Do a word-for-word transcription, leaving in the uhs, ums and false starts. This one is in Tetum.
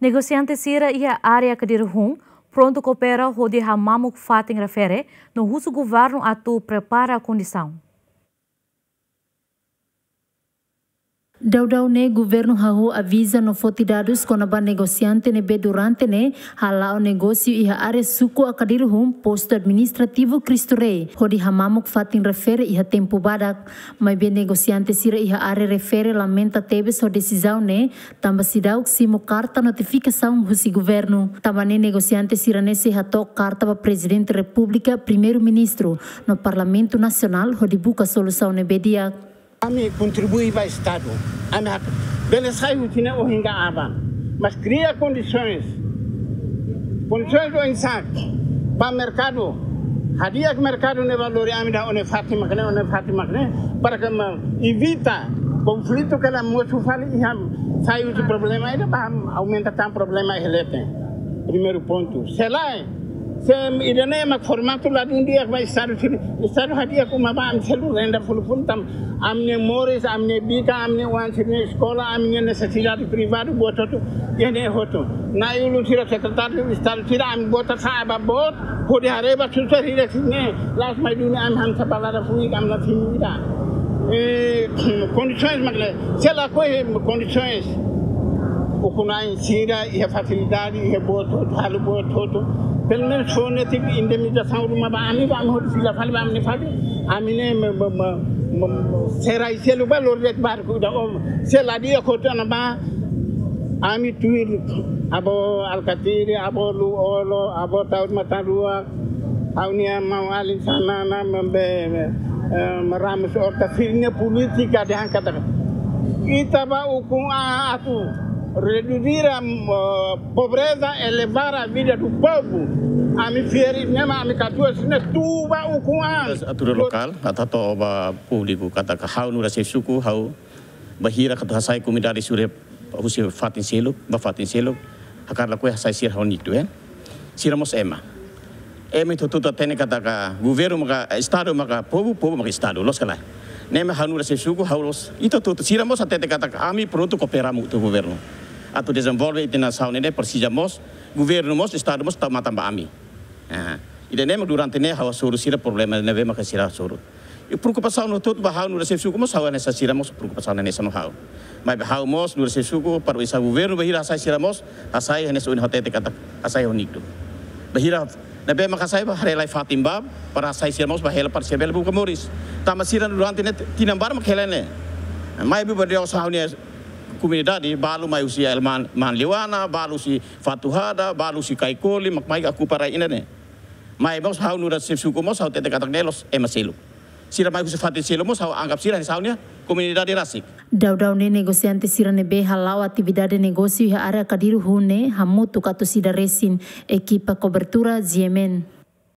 Negosiante sira iha área Akadiru-Hun prontu koopera hodi hamamuk fatin refere no husu governu atu prepara kondisaun. Daudaun ne'e governu hahú aviza no foti dadus kona-ba negosiante ne'ebé durante ne'e hala'o negósiu iha área suku Akadiru-Hun, postu administrativu Cristo Rei, hodi hamamuk fatin refere iha tempu badak. Maibé negosiante sira iha área refere lamenta tebes ho desizaun ne'e, tanba seidauk simu karta notifikasaun husi governu. Tanba ne'e negosiante sira-ne'e sei hato'o karta ba Prezidente Repúblika, Primeiru-Ministru no Parlamentu Nasionál hodi buka solusaun ne'ebé di'ak. Ami kontribui ba Estadu. Ami hak bele sai husi ne'e ohin ka aban. Mas kria kondisoens. Kondisoens oinsá? Ba merkadu. Hadi'a merkadu ne'e ba lori ami ida, ó-nia fatin mak ne'e, ó-nia fatin mak ne'e. Para ke mak evita konflitu ke la mosu fali iha, sai husi problema ida ba aumenta tan problema iha leten. Primeiru pontu. Se lae, se ida-ne'e mak formatu ladún di'ak ba Estadu sira. Estadu hadi'a uma ba ami selu renda full full tan. Ami-nia moris, ami-nia bikan, ami-nia oan sira-nia eskola, ami-nia nesesidade privadu, buat hotu, iha ne'e hotu. Na'i-ulun sira, sekretáriu Estadu sira, ami bota sa'e ba boot, hodi haree ba susar hira sira-ne'e, la'ós mai duni ami han sabalada fui, ami la simu ida. Eh, kondisoens mak ne'e, se lakohi kondisoens. Ukun-na'in sira iha fasilidade, iha boot hotu, halo boot hotu. Pelumenus fó netik indemnizasaun ruma ba ami, ba ami hodi fila fali ba ami-nia fatin. Ami ne'e me, me, me, me, serai selu ba lori de'it barku ida, ó. Se la di'ak hotu ona ba, ami tuir, avó Alkatiri, avó Lú-Olo, avó Taur Matan Ruak, ha'u-nia maun-alin Xanana, maun be, eh, Ramos Horta, sira-nia polítika dehan katak ita ba ukun an atu reduzir, eh, pobreza, elevar a vida do povo. Ami fiar ne'e mak ami katuas ne'e tuir ba ukun an. Autoridade lokál, atu hato'o ba públiku katak ha'u nu'udar xefe suku, ha'u bainhira atu hasai komunidade sira husi fatin seluk ba fatin seluk, hakarak lakohi hasai sira ho niktu, eh. Sira mós ema. Ema ita hotu hatene katak governu maka Estadu, maka povu, povu maka Estadu, loos ka lae? Ne'e mak ha'u nu'udar xefe suku, ha'u loos. Ita hotu, sira mós hatete katak ami prontu koopera hamutuk ho governu atu dezenvolve ita-nia nasaun ne'e, presiza mós governu mós, Estadu mós tau matan ba ami. Ah, ida-ne'e mak durante ne'e ha'u hasoru sira problema ne'ebé maka sira hasoru. I preokupasaun hotu-hotu ba ha'u nu'udar xefe suku mós ha'u hanesan sira mós preokupasaun hanesan ho ha'u. Maibé ha'u mós nu'udar xefe suku para oinsá governu bainhira hasai sira mós, hasai hanesan ohin ha'u hatete katak hasai ho niktu. Bainhira ne'ebé maka hasai ba, haree lai fatin ba, para hasai sira mós ba hela para sira bele buka moris. Tanba sira durante ne'e tinan barak mak hela ne'e. Maibé ba de'it ha'u-nia komunidade, balu mai husi Elman, Man Liwana, balu husi Fatuhada, balu husi Kaikoli, mak mai okupa rai ida-ne'e. Maibé mós ha'u nu'udar xefe suku mós ha'u hatete katak ne'e loos ema seluk. Sira mai husi fatin seluk mós ha'u anggap sira hanesan ha'u-nia komunidade rasik. Daudaun ne'e negosiante sira ne'ebé hala'o atividade negósiu iha área Akadiru-Hun ne'e hamutuk atus ida resin, ekipa kobertura G M N.